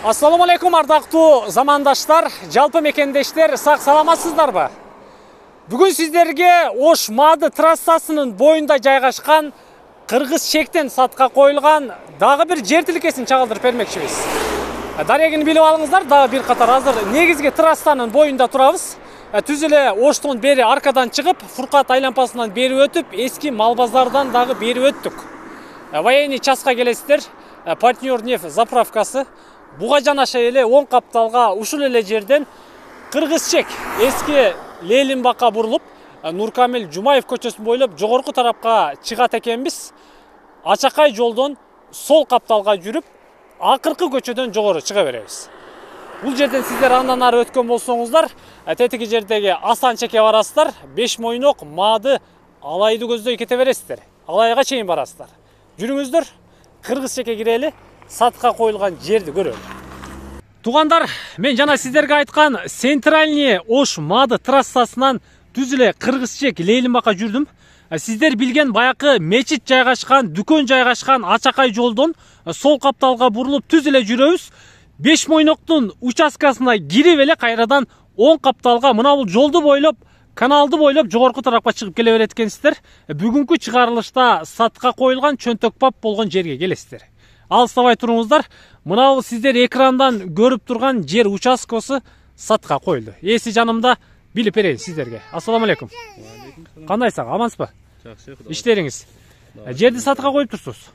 Assalamu alaikum ардактуу замандаштар, жалпы мекендештер, сак саламатсыздарбы? Бүгүн сиздерге Ош Мады трассасынын боюнда жайгашкан Кыргыз чектен сатка коюлган дагы бир жер тилкесин чагылдырып бермекчибиз. Дарегини билип алыңыздар, дагы бир катар азыр негизги трассанын боюнда турабыз. Түз эле Оштон бери аркадан чыгып, Фуркат айлампасынан бери өтүп, эски мал базардан дагы бери өттүк. Военный частка келесиздер, партнер нефть заправкасы. Буга жанаша эле оң капталга ушул эле жерден Кыргызчек эски Лелинбакка бурулуп, Нуркамил Жумаев көчөсүн бойлоп жогорку тарапка чыгат экенбиз. Ачакай жолдон сол капталга жүрүп, акыркы көчөдөн жогору чыга беребиз. Бул жерден сиздер андан ары өткөн болсоңуздар, тетиги жердеги Асан чекке барасыздар, Беш Мойнок, Мады, Алайды көздөй кете бересиздер. Алайга чейин барасыздар. Жүрүңүздөр, Кыргыз чекке кирели, сатка коюлган жерди көрөлү. Тугандар, мен жана сиздерге айткан Центральный Ош Мады трассасынан түз эле Кыргызчек Лелинбакка жүрдүм. Сиздер билген баякы мечит жайгашкан, дүкөн жайгашкан Ачакай жолдон сол капталга бурулуп түз эле жүрөбүз. Беш Мойноктун участкасына кирип эле кайрадан оң капталга мына бул жолду бойлоп, каналды бойлоп жогорку тарапка чыгып келе берет экенсиздер. Бүгүнкү чыгарылышта сатка коюлган чөнтөк пап болгон жерге келесиздер. Алыстабай туруңуздар. Мына бул сиздер экрандан көрүп турган жер участкасы сатка коюлду. Эси жанымда, билип берейин сиздерге. Ассаламу алейкум. Кандайсың? Амансызбы? Жакшы, Кудай. Иштериңиз. Жерди сатка коюп турсуз.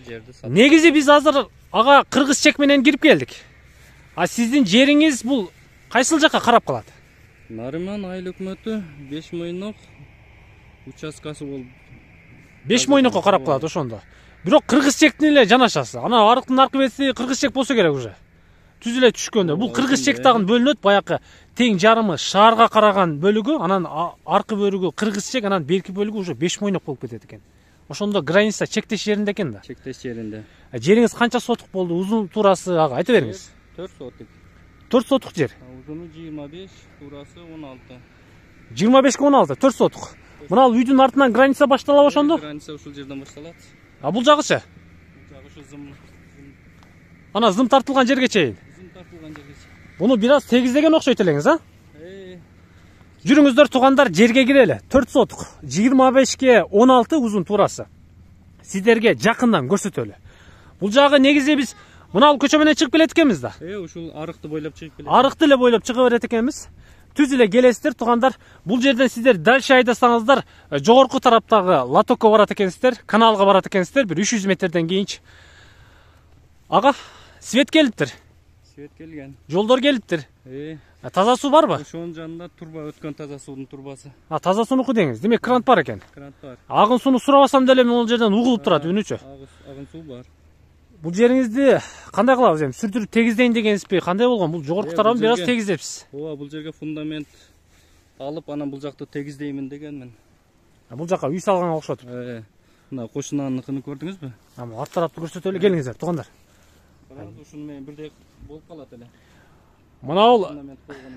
Жерди сатка. Негизи биз азыр ага Кыргызчек менен кирип келдик. Сиздин жериңиз бул кайсыл жакка карап калат? Нариман айыл өкмөтү Беш Мойнок участкасы болуп. Беш Мойнокко карап калат ошондо. Бирок Кыргызчектин эле жанашасы. Ана арыктын аркы бети Кыргызчек болсо керек уже. Түз эле түшкөндө. Бул Кыргызчек дагы бөлүнөт, баякы тең жарымы шаарга караган бөлүгү, анан аркы бөлүгү Кыргызчек, анан берки бөлүгү уже Беш Мойнок болуп кетет экен. Ошондо граница чектеш жеринде экен да. Чектеш жеринде. Жериңиз канча сотук болду? Узун туурасы ага айта бериңиз. 4 сотук. 4 сотук жер. Узуну 25, туурасы 16. 25ке 16, 4 сотук. Мына үйдүн артынан граница башталат ошондо? Граница ушул жерден башталат. Бул жагычы? Бул жагы ушу зым. Ана зым тартылган жерге чейин. Зым тартылган жерге. Буну бир аз тегиздеген окшойт элеңиз, а? Жүрүңүздөр тугандар, жерге кирели. 4 сотук, 25ке 16 узун туурасы. Сиздерге жакындан көрсөтөлү. Бул жагы негизи биз мына бул көчө менен чыгып келет экенбиз да. Ушул арыкты бойлоп чыгып келет. Арыкты эле бойлоп чыга берет экенбиз. Түз эле келесиздер тугандар. Бул жерден сиздер дальше айдасаңыздар, жогорку тараптагы лотокко барат экенсиздер, каналга барат экенсиздер, бир 300 метрден кийинчи. Ага, свет келиптир. Свет келген. Жолдор келиптир. Таза суу барбы? Ошонун жанында турба өткөн таза суунун турбасы. Таза суунуку деңиз. Демек крант бар экен. Крант бар. Агын сууну сурабасам деле могул жерден угулуп турат үнүчө. Агын суу бар. Бул жериңизди кандай кылабыз эми? Сүрдүрүп тегиздейин дегенсизби? Кандай болгон? Бул жогорку тарабын бир аз тегиздепсиз. Ооба, бул жерге фундамент алып, анан бул жакты тегиздеймин дегенмин. Бул жака үй салганга окшотуп. Мына кошунаныкын көрдүңүзбү? Ар тарапты көрсөтөлү, келиңиздер тугандар. Ушуну менен бирдей болуп калат эле. Мына бул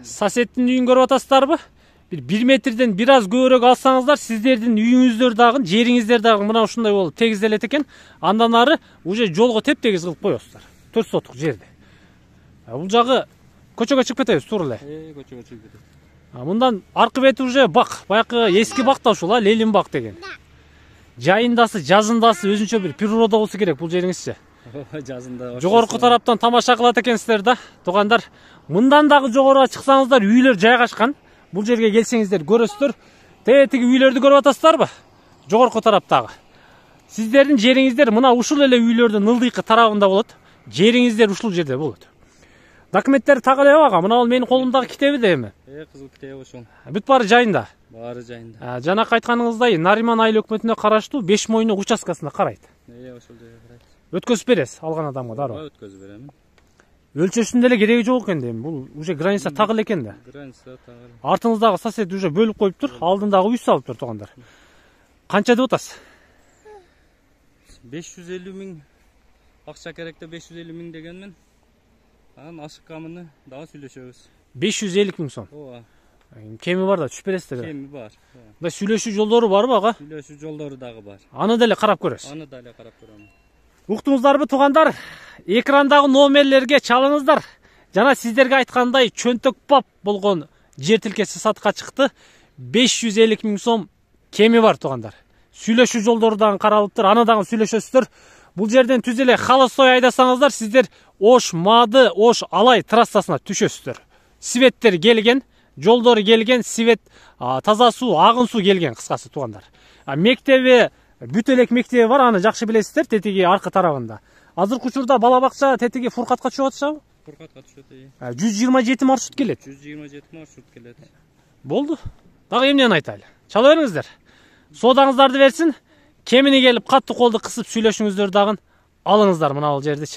соседтин үйүн көрүп атасыздарбы? Бир 1 метрден бир аз көбүрөөк алсаңыздар, сиздердин үйүңүздөр дагы, жериңиздер дагы мына ушундай болуп тегизделет экен. Андан ары уже жолго теп-тегиз кылып коесуздар. 4 сотук жерди. Бул жагы көчөгө чыгып кетебиз туура эле. Көчөгө чыгып кетет. Мындан аркы бети уже бак, баякы эски бак да ушул, Лелинбак деген. Жайындасы, жазындасы өзүнчө бир природа болсо керек бул жериңизчи. Жазында. Жогорку тараптан тамаша кылат экенсиздер да, тугандар. Мындан дагы жогоруга чыксаңыздар, үйлөр жайгашкан. Бул жерге келсеңиздер көрөсүздөр. Тетиги үйлөрдү көрүп атасыздарбы? Жогорку тараптагы. Сиздердин жериңиздер мына ушул эле үйлөрдүн ылдыйкы тарабында болот. Жериңиздер ушул жерде болот. Документтер так эле ага. Мына бул менин колумдагы китеби да эми. Кызыл китеби ошол. Бүт баары жайында. Баары жайында. Жанакы айтканыңыздай, Нариман айыл өкмөтүнө караштуу Беш Мойнок участкасына карайт. Ошол жерге карайт. Өткөзүп бересиз алган адамга дароо. Өткөзүп берем. Өлчөсүндө эле кереги жок экен дейм. Бул уже граница так эле экен да. Граница так эле. Артыңыздагы сосед уже бөлүп коюптур, алдындагы үй салыптыр тугандар. Канча деп атасыз? 550 миң. Акча керекте 550 миң дегенмен. Анан ашыкканын дагы сүйлөшөбүз. 550 миң сом. Ооба. Кеми бар да түшүп бересиздер да. Кеми бар. Мына сүйлөшүү жолдору барбы ага? Сүйлөшүү жолдору дагы бар. Аны деле карап көрөсүз. Аны деле карап көрөм. Уктуңуздарбы тугандар? экрандагы номерлерге чалыңыздар. Жана сиздерге айткандай чөнтөк бап болгон жер тилкеси сатка чыкты. 550 000 сом кеми бар туугандар. Сүйлөшүү жолдору дагы каралыптыр, аны дагы сүйлөшөсүздөр. Бул жерден түз эле холостой айдасаңыздар, сиздер Ош Мады, Ош Алай трассасына түшөсүздөр. Светтер келген, жолдору келген, свет, таза суу, агын суу келген кыскасы туугандар. Мектеби, бүт элек мектеби бар, аны жакшы билесиздер, тетиги аркы тарабында. Азыркы учурда бала бакча тетиги Фуркатка түшүп атышабы? Фуркатка түшөт. 127 маршрут келет. 127 маршрут келет. Болду. Дагы эмнени айтайлы? Чала бериңиздер. Соодаңыздарды берсин. Кемини келип катты колду кысып сүйлөшүңүздөр дагы алыңыздар мына бул жерди.